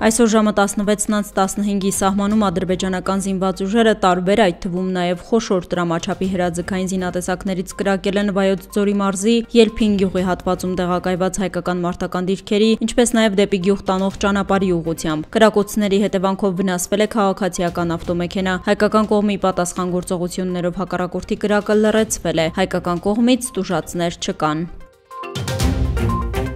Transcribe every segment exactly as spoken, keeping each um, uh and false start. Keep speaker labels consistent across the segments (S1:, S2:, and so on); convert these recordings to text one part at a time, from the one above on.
S1: Այսօր ժամը տասնվեցից տասնհինգի սահմանում ադրբեջանական զինված ուժերը տարբեր, այդ թվում նաև խոշոր դրամաչափի հրաձգային զինատեսակներից կրակել են Վայոց ձորի մարզի Ելփին գյուղի հատվածում տեղակայված հայկական մարտական դիրքերի, ինչպես նաև դեպի գյուղ տանող ճանապարհի ուղղությամբ։ Կրակոցների հետևանքով վնասվել է քաղաքացիական ավտոմեքենա։ Հայկական կողմի պատասխան գործողություններով հակառակորդի կրակը լռեցվել է։ Հայկական կողմից տուժածներ չկան։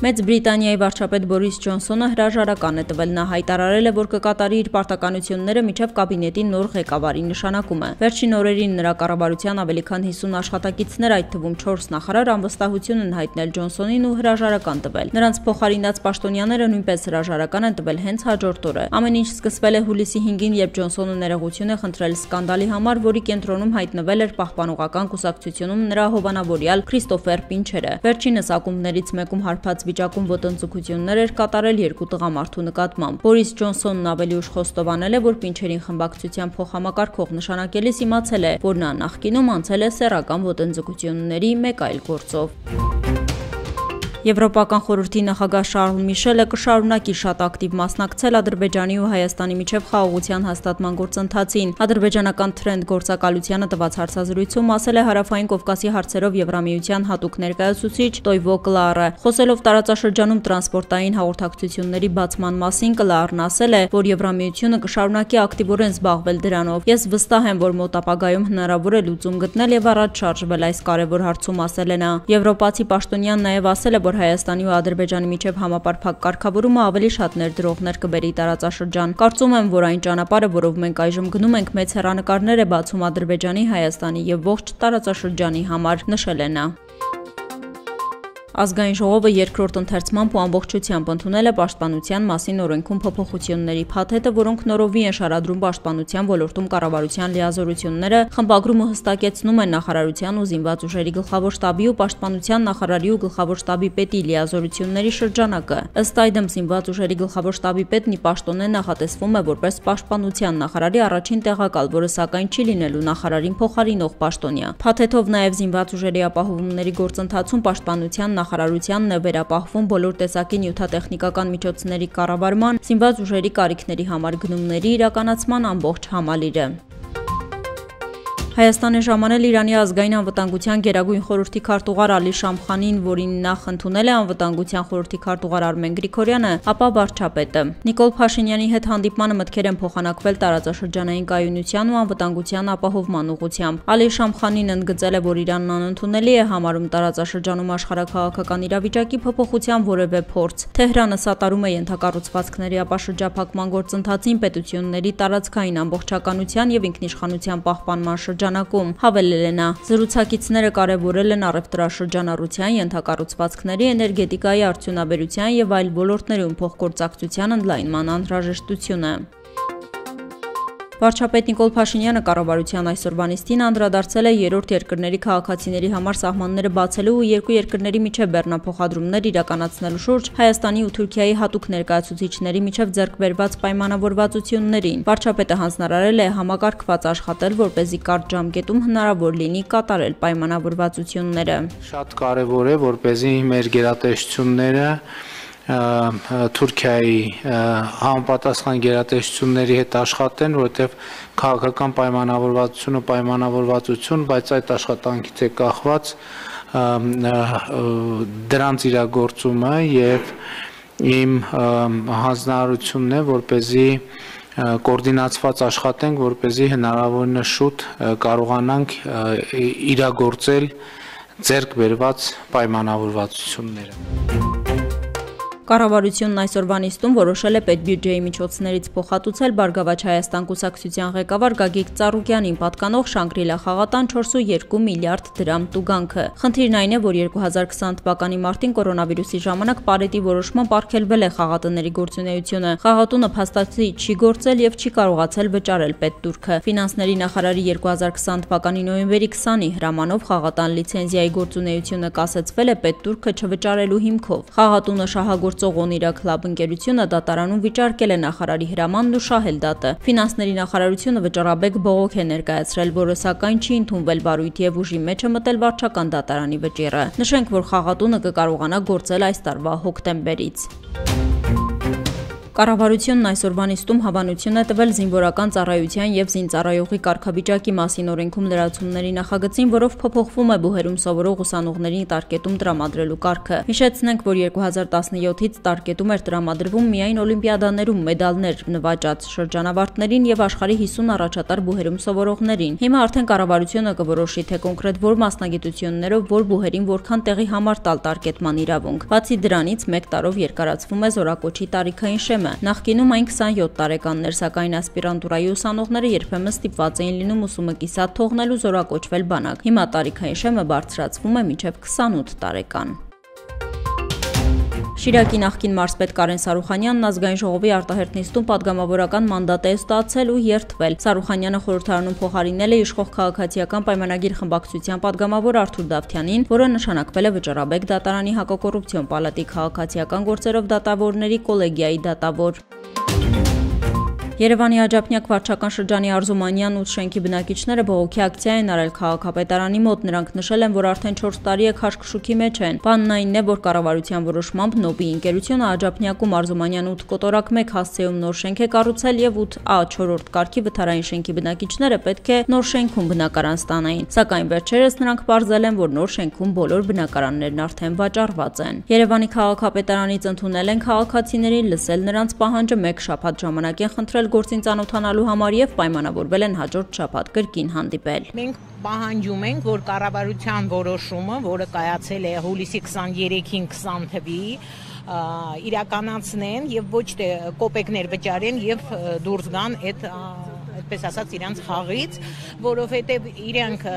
S1: Մեծ Բրիտանիայի վարչապետ Բորիս Ջոնսոնը հրաժարական է տվել։ Նա հայտարարել է, որ կկատարի իր պարտականությունները մինչև կաբինետի նոր ղեկավարի նշանակումը։ Վերջին օրերին նրա կառավարության ավելի քան հիսուն աշխատակիցներ, այդ թվում չորս նախարար, անվստահություն են հայտնել Ջոնսոնին ու հրաժարական տվել։ Նրանց փոխարինած պաշտոնյաները նույնպես հրաժարական են տվել հենց հաջորդ օրը։ Ամեն ինչ սկսվել է հուլիսի հինգին, երբ Ջոնսոնը ներողություն է խնդրել սկանդալի համար, որի կենտրոնում հայտնվել էր պահպանողական կուսակցությունում նրա հովանավորյալ Քրիստոֆեր Պինչերը։ Վերջինս ակումբներից մեկում հարբած վիճակում ոտնձգություններ էր կատարել երկու տղամարդու նկատմամբ։ Բորիս Ջոնսոնն ավելի ուշ խոստովանել է, որ Պինչերին խմբակցության փոխհամակարգող նշանակելիս իմացել է, որ նա նախկինում անցել է սեռական ոտնձգությունների մեկ այլ գործով։ Եվրոպական խորհրդի նախագահ Շարլ Միշելը կշարունակի շատ ակտիվ մասնակցել Ադրբեջանի ու Հայաստանի միջև խաղաղության հաստատման գործընթացին։ Ադրբեջանական Թրենդ գործակալությանը տված հարցազրույցում ասել է Հարավային Կովկասի հարցերով Եվրամիության հատուկ ներկայացուցիչ Տոյվո Կլարը։ Խոսելով տարածաշրջանում տրանսպորտային հաղորդակցությունների բացման մասին, Կլարն ասել է, որ Եվրամիությունը կշարունակի ակտիվորեն զբաղվել դրանով։ Ես վստահ եմ, որ մոտ ապագայում հնարավոր է լուծում գտնել եւ առաջ շարժվել այս կարևոր հարցում, ասել է նա։ Եվրոպացի պաշտոնյան նաև ասել է, որ Հայաստանի ու Ադրբեջանի միջև համապարփակ կարգավորումը ավելի շատ ներդրողներ կբերի տարածաշրջան։ Կարծում եմ, որ այն ճանապարհը, որով մենք այժմ գնում ենք, մեծ հեռանկարներ է բացում Ադրբեջանի, Հայաստանի եւ ողջ տարածաշրջանի համար, նշել է նա։ Ազգային ժողովը երկրորդ ընթերցմամբ ու ամբողջությամբ ընդունել է Պաշտպանության մասին օրենքում փոփոխությունների փաթեթը, որոնք նորովի են շարադրում պաշտպանության ոլորտում կառավարության լիազորությունները, խմբագրումը հստակեցնում են նախարարության ու զինված ուժերի գլխավոր շտաբի ու պաշտպանության նախարարի ու գլխավոր շտաբի պետի լիազորությունների շրջանակը։ Ըստ այդմ զինված ուժերի գլխավոր շտաբի պետն ի պաշտոնե նախատեսվում է որպես պաշտպանության նախարարի առաջին տեղակալ, որը սակայն չի լինելու նախարարին փոխարինող պաշտոնյա։ Փաթեթով նաև զինված ուժերի ապահովումների գործընթացում պաշտպանության նախարարությանն է վերապահվում բոլոր տեսակի նյութատեխնիկական միջոցների կառավարման, զինված ուժերի կարիքների համար գնումների իրականացման ամբողջ համալիրը։ Հայաստան է ժամանել Իրանի ազգային անվտանգության գերագույն խորհրդի քարտուղար Ալի Շամխանին, որին նախ ընդունել է անվտանգության խորհրդի քարտուղար Արմեն Գրիգորյանը, ապա վարչապետը։ Նիկոլ Փաշինյանի հետ հանդիպմանը մտքեր են փոխանակվել տարածաշրջանային կայունության ու անվտանգության ապահովման ուղղությամբ։ Ալի Շամխանին ընդգծել է, որ Իրանն անընդունելի է համարում տարածաշրջանում աշխարհաքաղաքական իրավիճակի փոփոխության որևէ փորձ։ Թեհրանը սատարում է ենթակառուցվածքների ապաշրջափակման գործընթացին, պետությունների տարածքային ամբողջականության եւ ինքնիշխանության պահպանման շրջանակում, հավելել է նա։ Զրուցակիցները կարևորել են առևտրաշրջանառության, ենթակառուցվածքների, էներգետիկայի, արդյունաբերության եւ այլ ոլորտներում փոխգործակցության ընդլայնման անհրաժեշտությունը։ Վարչապետ Նիկոլ Փաշինյանը կառավարության այսօրվա նիստին անդրադարձել է երրորդ երկրների քաղաքացիների համար սահմանները բացելու ու երկու երկրների միջև բեռնափոխադրումներ իրականացնելու շուրջ Հայաստանի ու Թուրքիայի հատուկ ներկայացուցիչների միջև ձեռք բերված պայմանավորվածություններին։ Վարչապետը հանձնարարել է համակարգված աշխատել, որպեսզի կարճ ժամկետում հնարավոր լինի կատարել պայմանավորվածությունները։
S2: Շատ կարևոր է, որպեսզի մեր գերատեսչությունները Թուրքիայի համապատասխան գերատեսչությունների հետ աշխատեն, որովհետև քաղաքական պայմանավորվածությունը պայմանավորվածություն, բայց այդ աշխատանքից է կախված դրանց իրագործումը եւ իմ հանձնարարությունն է, որպեսզի կոորդինացված աշխատենք, որպեսզի հնարավորինս շուտ կարողանանք իրագործել ձեռք բերված պայմանավորվածությունները։
S1: Կառավարությունն այսօրվա նիստում որոշել է պետբյուջեի միջոցներից փոխհատուցել Բարգավաճ Հայաստան կուսակցության ղեկավար Գագիկ Ծառուկյանին պատկանող Շանգրիլա խաղատան չորս կόμμα երկու միլիարդ դրամ տուգանքը։ Խնդիրն այն է, որ երկու հազար քսան թվականի մարտին կորոնավիրուսի ժամանակ Պարետի որոշմամբ արգելվել է խաղատների գործունեությունը։ Խաղատունը փաստացի չի գործել եւ չի կարողացել վճարել պետտուրքը։ Ֆինանսների նախարարի երկու հազար քսան թվականի նոյեմբերի քսանի հրամանով խաղատան լիցենզիայի գործունեությունը կասեցվել է պետտուրքը չվճարելու հիմքով։ Խաղատունը շահագործ Օղոնիրակ Լաբ ընկերությունը դատարանում վիճարկել է նախարարի հրամանն ու շահել դատը։ Ֆինանսների նախարարությունը վճարաբեկ բողոք է ներկայացրել, որը սակայն չի ընդունվել վարույթի եւ ուժի մեջ է մտել վարչական դատարանի վճիռը։ Նշենք, որ խաղատունը կկարողանա գործել այս տարվա հոկտեմբերից։ Կառավարությունն այսօրվա նիստում հավանություն է տվել զինվորական ծառայության և զինծառայողի կարգավիճակի մասին օրենքում լրացումների նախագծին, որով փոփոխվում է բուհերում սովորող ուսանողներին տարկետում տրամադրելու կարգը։ Հիշեցնենք, որ երկու հազար տասնյոթից տարկետում էր տրամադրվում միայն օլիմպիադաներում մեդալներ նվաճած շրջանավարտներին և աշխարհի հիսուն առաջատար բուհերում սովորողներին։ Հիմա արդեն կառավարությունը կորոշի, թե կոնկրետ որ մասնագիտություններով որ բուհերին որքան տեղի համար տալ տարկետման իրավունք։ Բացի դրանից, մեկ տարով երկարացվում է զորակոչի տարիքային շեմը։ Նախկինում այն քսանյոթ տարեկաններ, սակայն ասպիրանտուրայի ուսանողները երբեմն ստիպված էին լինում ուսումը կիսատ թողնել ու զորակոչվել բանակ։ Հիմա տարիքային շեմը բարձրացվում է մինչև քսանութ տարեկան։ Շիրակի նախկին մարզպետ Կարեն Սարուխանյանն ազգային ժողովի արտահերթ նիստում պատգամավորական մանդատ է ստացել ու երդվել։ Սարուխանյանը խորհրդարանում փոխարինել է իշխող քաղաքացիական պայմանագիր խմբակցության պատգամավոր Արթուր Դավթյանին, որը նշանակվել է Վճռաբեկ դատարանի հակակոռուպցիոն պալատի քաղաքացիական գործերով դատավորների կոլեգիայի դատավոր։ Երևանի Աջափնյակ վարչական շրջանի Արզումանյան ութ շենքի բնակիչները բողոքի ակցիա են արել քաղաքապետարանի մոտ։ Նրանք նշել են, որ արդեն չորս տարի է քաշքշուկի մեջ են։ Բանն այն է, որ կառավարության որոշմամբ Նոբի ընկերությունը Աջափնյակում Արզումանյան ութ կոտորակ մեկ հասցեում նոր շենք է կառուցել եւ ութ ա չորրորդ կարգի վթարային շենքի բնակիչները պետք է նոր շենքում բնակարան ստանային։ Սակայն վերջերս նրանք պարզել են, որ նոր շենքում բոլոր բնակարաններն արդեն վաճառված են։ Երևանի քաղաքապետարանից ընդունել են քաղաքացիներին, լսել նրանց պահանջը, մեկ շաբաթ ժամանակ են խնդրել գործին ծանոթանալու համար եւ պայմանավորվել են հաջորդ շաբաթ կրկին հանդիպել։
S3: Մենք պահանջում ենք, որ կառավարության որոշումը, որը կայացել է հուլիսի քսաներեքին քսան թվի, իրականացնեն եւ ոչ թե կոպեկներ վճարեն եւ դուրս գան այդ այդպես ասած իրանց խաղից, որովհետեւ իրենք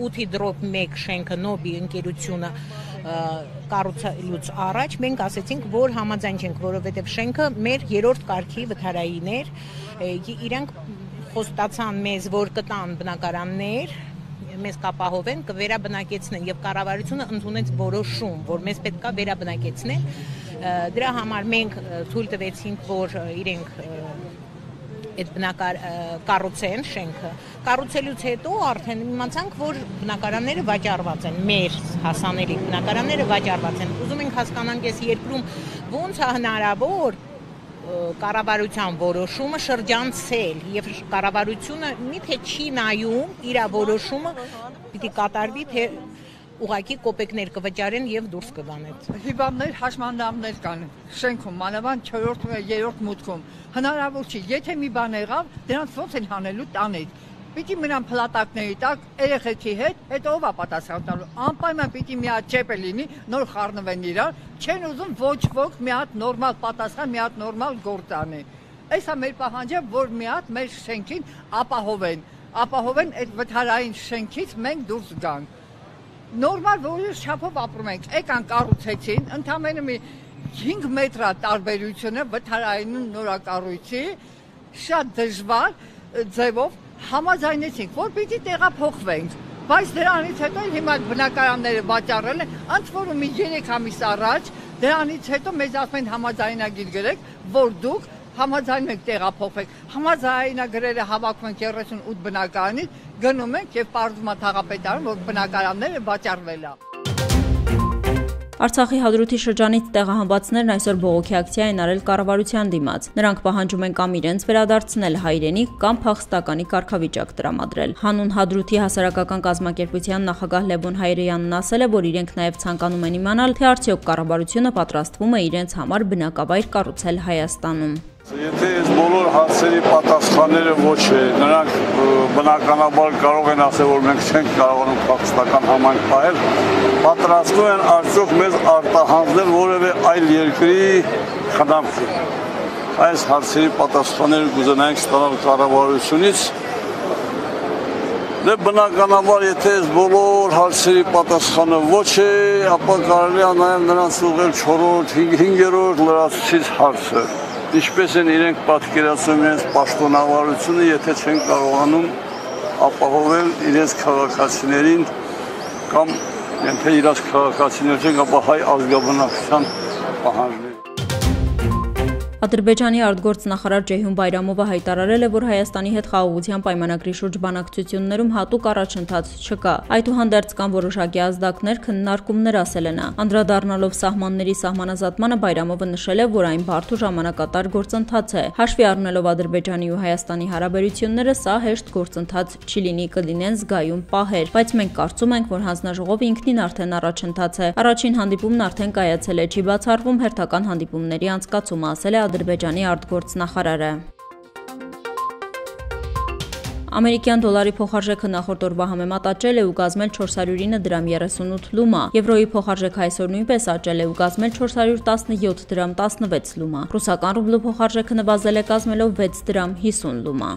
S3: ութի դրոպ մեկ շենքը Նոբի ընկերությունը կառուցելուց առաջ մենք ասեցինք, որ համաձայն չենք, որովհետև շենքը մեր երրորդ կարգի վթարային էր, իրանք խոստացան մեզ, որ կտան բնակարաններ, մեզ կապահովեն, կվերաբնակեցնեն եւ կառավարությունը ընդունեց որոշում, որ մեզ պետք է վերաբնակեցնեն։ Դրա համար մենք թույլ տվեցինք, որ իրենք այդ բնակար կառուցեն շենքը։ Կառուցելուց հետո արդեն իմացանք, որ բնակարանները վաճառված են, մեր հասանելի բնակարանները վաճառված են։ Ուզում ենք հասկանանք, այս երկրում ոնց է հնարավոր կառավարության որոշումը շրջանցել եւ կառավարությունը միթե չի նայում իր որոշումը պիտի կատարվի, թե ուղղակի կոպեկներ կվճարեն եւ դուրս կգան այդ։
S4: Հիվանդներ, հաշմանդամներ կան շենքում, մանավանդ չորրորդ երրորդ մուտքում։ Հնարավոր չի, եթե մի բան եղավ, դրանց ոնց են հանելու տանից։ Պիտի մնան փլատակների տակ, երեխեքի հետ, հետո ով է պատասխան տալու։ Անպայման պիտի մի հատ չեպ լինի, նոր խառնվեն իրար, չեն ուզում ոչ ոք մի հատ նորմալ պատասխան, մի հատ նորմալ գործ անի։ Այս է մեր պահանջը, որ մի հատ մեր շենքին ապահովեն, ապահովեն այդ վթարային շենքից մենք դուրս գանք։ Նորմալ որոշ չափով ապրում ենք, եկան կառուցեցին, ընդամենը մի հինգ մետր տարբերությունը վթարային ու նորակառույցի, շատ դժվար ձևով համաձայնեցինք, որ պիտի տեղափոխվենք, բայց դրանից հետո հիմա բնակարանները վաճառել են, ընդ որում մի երեք ամիս առաջ, դրանից հետո մեզ ասում են համաձայնագիր գրեք, որ դուք համաձայնում ենք տեղափոխվենք, համաձայնագրերը հավաքում ենք երեսունութ բնակարանից, գնում ենք եւ պարզվում է թաղապետարան, որ բնակարանները վաճառվել է։
S1: Արցախի Հադրութի շրջանից տեղահանվածներն այսօր բողոքի ակցիա են արել կառավարության դիմաց։ Նրանք պահանջում են կամ իրենց վերադարձնել հայրենիք, կամ փախստականի կարգավիճակ տրամադրել։ Հանուն Հադրութի հասարակական կազմակերպության նախագահ Լևոն Հայրեյանն ասել է, որ իրենք նաև ցանկանում են իմանալ, թե արդյոք կառավարությունը պատրաստվում է իրենց համար բնակավայր կառուցել Հայաստանում։
S5: Եթե այս բոլոր հարցերի պատասխանները ոչ է, նրանք բնականաբար կարող են ասել, որ մենք չենք կարողանում փախստական համայնք պահել, պատրաստում են արդյոք մեզ արտահանձնել որևէ այլ երկրի խնամքի։ Այս հարցերի պատասխանները կուզենայինք ստանալ կառավարությունից։ Դե բնականաբար, եթե այս բոլոր հարցերի պատասխանը ոչ է, ապա կարելի է նաև նրանց ուղղել չորրորդ, հինգերորդ լրացուցիչ հարցը։ Ինչպես են իրենք պատկերացնում իրենց պաշտոնավարությունը, եթե չեն կարողանում ապահովել իրենց քաղաքացիներին կամ եթե իրենց քաղաքացիներ չեն, ապա հայ ազգաբնակության պահանջները։
S1: Ադրբեջանի արտգործնախարար Ջեյհուն Բայրամովը հայտարարել է, որ Հայաստանի հետ խաղաղության պայմանագրի շուրջ բանակցություններում հատուկ առաջընթաց չկա։ Այդուհանդերձ կան որոշակի ազդակներ, քննարկումներ, ասել է նա։ Անդրադառնալով սահմանների սահմանազատմանը Բայրամովը նշել է, որ այն բարդ ու ժամանակատար գործընթաց է։ Հաշվի առնելով Ադրբեջանի ու Հայաստանի հարաբերությունները, սա հեշտ գործընթաց չի լինի, կլինեն զգայուն պահեր, բայց մենք կարծում ենք, որ հանձնաժողովը ինքնին արդեն առաջընթաց է։ Առաջին հանդիպումն արդեն կայացել է, չի բացառվում հերթական հանդիպումների անցկացումը, ասել է Ադրբեջանի արտգործնախարարը։ Ամերիկյան դոլարի փոխարժեքը նախորդ օրվա համեմատ աճել է ու կազմել չորս հարյուր ինը դրամ երեսունութ լումա։ Եվրոյի փոխարժեքը այսօր նույնպես աճել է ու կազմել չորս հարյուր տասնյոթ դրամ տասնվեց լումա։ Ռուսական ռուբլու փոխարժեքը նվազել է կազմելով վեց դրամ հիսուն լումա։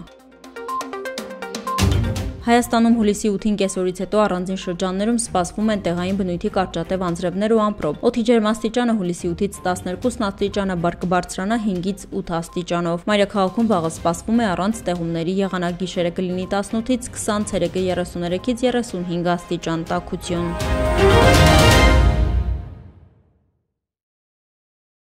S1: Հայաստանում հուլիսի ութին կեսօրից հետո առանձին շրջաններում սպասվում են տեղային բնույթի կարճատև անձրևներ ու ամպրոպ։ Օդի ջերմաստիճանը հուլիսի ութից տասներկու աստիճան, կբարձրանա հինգից ութ աստիճանով։ Մայրաքաղաքում վաղը սպասվում է առանց ստեղումների եղանակ, գիշերը կլինի տասնութից քսան, ցերեկը երեսուներեքից երեսունհինգ աստիճան տաքություն։